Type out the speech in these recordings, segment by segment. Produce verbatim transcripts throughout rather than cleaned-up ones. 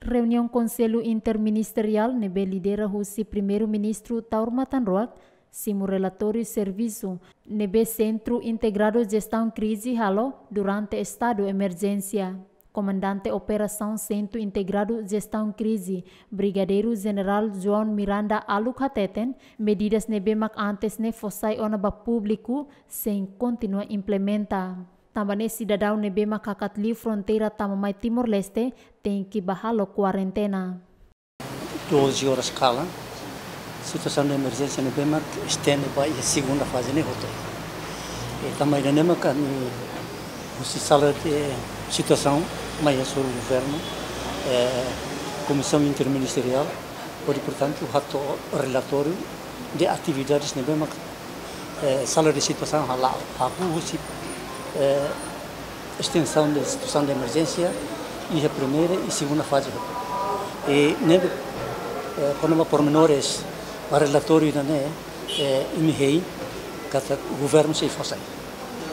Reuniaun Konsellu Interministeriál ne'ebé lidera husi Primeiru-Ministru Taur Matan Ruak simu relatóriu servisu ne'ebé Sentru Integradu Jestaun Krize halo durante estadu emerjénsia. Komandante Operasaun Sentru Integradu Jestaun Krize, Brigadeiru Jenerál João Miranda Aluk hateten, medidas ne'ebé mak antes ne'e fó sai ona ba públiku sei kontinua implementa. Tanba ne'e sidadaun ne'ebé mak hakat liu fronteira tama mai Timor-Leste tenke bá halo kuarentena. Doze horas kalan, situasaun de emerjénsia ne'ebé mak estende ba iha segunda faze ne'e hotu. E tanba ida-ne'e mak ami husi sala de situasaun mai hasoru governu, eh, komisaun interministeriál, hodi, portantu, hato'o relatóriu de atividades ne'ebé mak, eh, sala de situasaun hala'o, hahú husi, eh, estensaun de situasaun de emerjénsia iha primeira i segunda faze hotu. I ne'ebé, eh, kona-ba pormenores ba relatóriu ida-ne'e, eh, imi hein katak governu sei fó sai.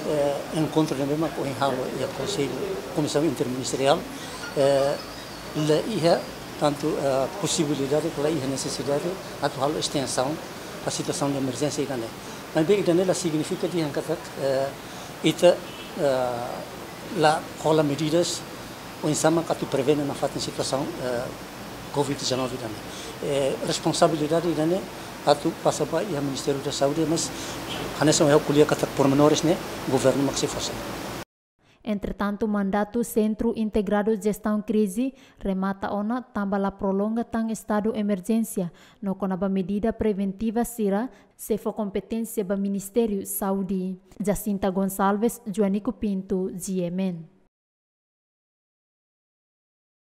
Eh, enkontru ne'ebé mak ohin halo iha Konsellu, Komisaun Interministeriál, eh, la iha tantu, eh, posibilidade, ka la iha nesesidade atu halo estensaun ba situasaun de emerjénsia ida-ne'e. Maibé ida-ne'e la signifika dehan katak, eh, ita, eh, la hola medidas oinsá mak atu prevene nafatin situasaun, eh, covid dezanove ida-ne'e. Eh, responsabilidade ida-ne'e atu pasa ba iha Ministériu da Saúde, mas hanesan ohin ha'u ko'alia katak pormenores ne'e governu mak sei fó sai. Entretantu, mandatu Sentru Integradu Jestaun Krize remata ona tanba la prolonga tan estadu emerjénsia, no kona-ba medida preventiva sira sei fó kompeténsia ba Ministériu Saúde. Jacinta Gonçalves, Joanico Pinto, G M N.